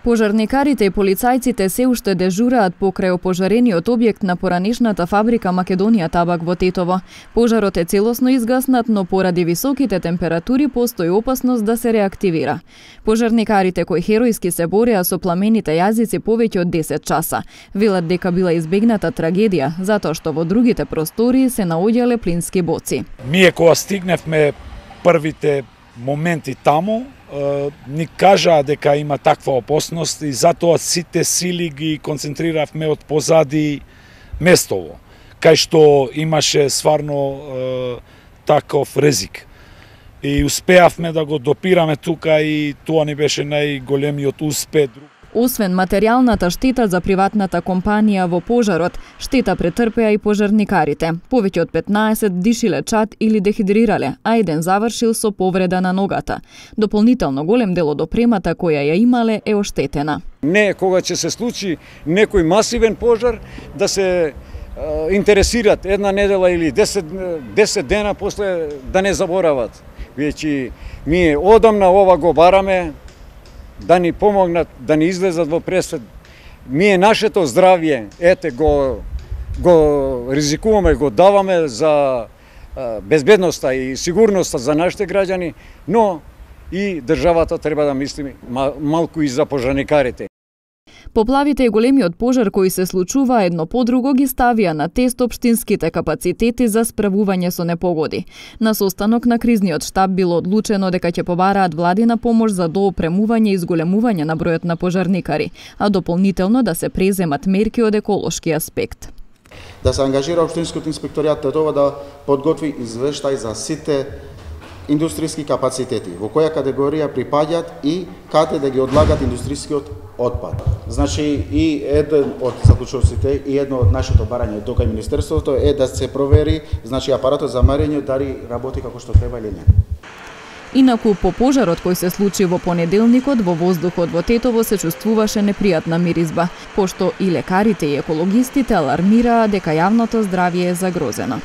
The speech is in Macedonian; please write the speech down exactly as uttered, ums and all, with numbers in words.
Пожарникарите и полицајците се уште дежураат покрај опожарениот објект на поранешната фабрика Македонија Табак во Тетово. Пожарот е целосно изгаснат, но поради високите температури постои опасност да се реактивира. Пожарникарите кои херојски се бореа со пламените јазици повеќе од десет часа, велат дека била избегната трагедија, затоа што во другите простории се наоѓале плински боци. Ние кога стигневме првите моменти таму, ни кажаа дека има таква опасност и затоа сите сили ги концентриравме од позади местово, кај што имаше стварно таков ризик. И успеавме да го допираме тука и тоа ни беше најголемиот успех. Освен материјалната штета за приватната компанија во пожарот, штета претрпеа и пожарникарите. Повеќе од петнаесет диши лечат или дехидрирале, а еден завршил со повреда на ногата. Дополнително голем дел од опремата која ја имале е оштетена. Не кога ќе се случи некој масивен пожар да се е, интересираат една недела или десет, десет дена после да не заборават. Веќе ние одамна ова го бараме, да ни помогнат, да ни излезат во пресвет. Ние нашето здравје, ете, го, го ризикуваме, го даваме за безбедноста и сигурноста за нашите граѓани, но и државата треба да мисли малку и за пожарникарите. Поплавите и големиот пожар кои се случува едно по друго ги ставија на тест општинските капацитети за справување со непогоди. На состанок на кризниот штаб било одлучено дека ќе побараат владина помош за доопремување и зголемување на бројот на пожарникари, а дополнително да се преземат мерки од еколошки аспект. Да се ангажира општинскиот инспекторијат Тетово да подготви извештај за сите индустријски капацитети, во која категорија припаѓаат и каде да ги одлагат индустријскиот отпад. Значи и еден од заклучоците и едно од нашето барање до кај Министерството е да се провери, значи апаратот за марење дали работи како што треба или не. Инаку по пожарот кој се случи во понеделникот во воздухот во Тетово се чувствуваше непријатна миризба, пошто и лекарите и екологистите алармираа дека јавното здравје е загрозено.